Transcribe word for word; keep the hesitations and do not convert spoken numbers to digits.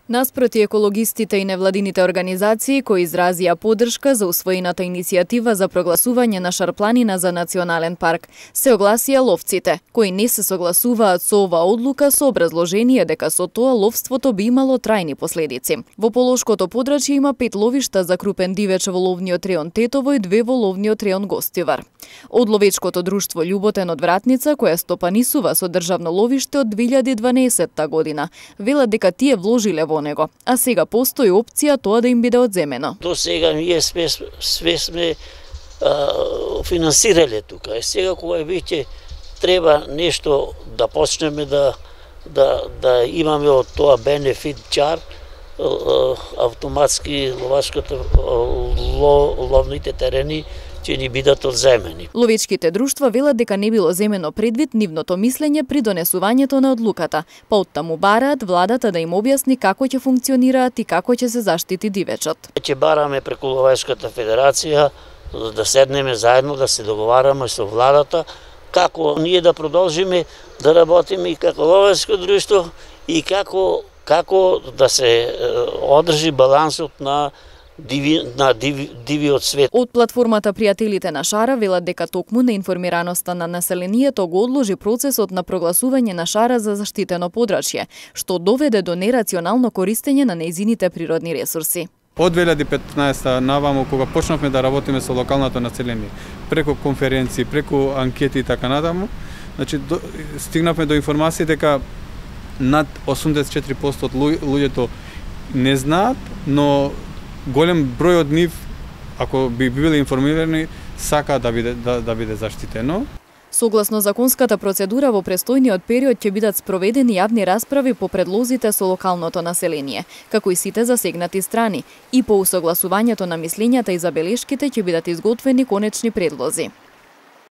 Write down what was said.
Наспроти екологистите и невладините организации кои изразија поддршка за усвоената иницијатива за прогласување на Шарпланина за национален парк, се огласија ловците, кои не се согласуваат со оваа одлука со образложение дека со тоа ловството би имало трајни последици. Во Полошкото подрачје има пет ловишта за крупен дивеч во ловниот реон Тетово и две во ловниот реон Гостивар. Од ловечкото друштво Љуботен од Вратница, која стопанисува со државно ловиште од две илјади и дванаесетта година, велат дека тие вложиле во него, а сега постои опција тоа да им биде одземено. До сега ние све, све сме а, финансирале тука. И сега кога веќе треба нешто да почнеме да да да имаме од тоа бенефит чар, автоматски ловачката ловните терени ќе ни бидат одземени. Ловечките друштва велат дека не било земено предвид нивното мислење при донесувањето на одлуката, па оттаму бараат владата да им објасни како ќе функционираат и како ќе се заштити дивечот. Ќе бараме преку Ловечката федерација да седнеме заедно да се договараме со владата како ние да продолжиме да работиме и како ловечко друштво и како како да се одржи балансот на Диви, на диви, дивиот свет. Од платформата Пријателите на Шара велат дека токму неинформираноста на населението го одложи процесот на прогласување на Шара за заштитено подрачје, што доведе до нерационално користење на нејзините природни ресурси. Од две илјади и петнаесетта наваму, кога почнавме да работиме со локалното население, преку конференции, преку анкети и така натаму, значи до, стигнавме до информација дека над осумдесет и четири проценти од луѓето не знаат, но голем број од нив, ако би биле информирани, сака да биде да, да биде заштитено. Согласно законската процедура во престојниот период ќе бидат спроведени јавни расправи по предлозите со локалното население, како и сите засегнати страни, и по усогласувањето на мислењата и забелешките ќе бидат изготвени конечни предлози.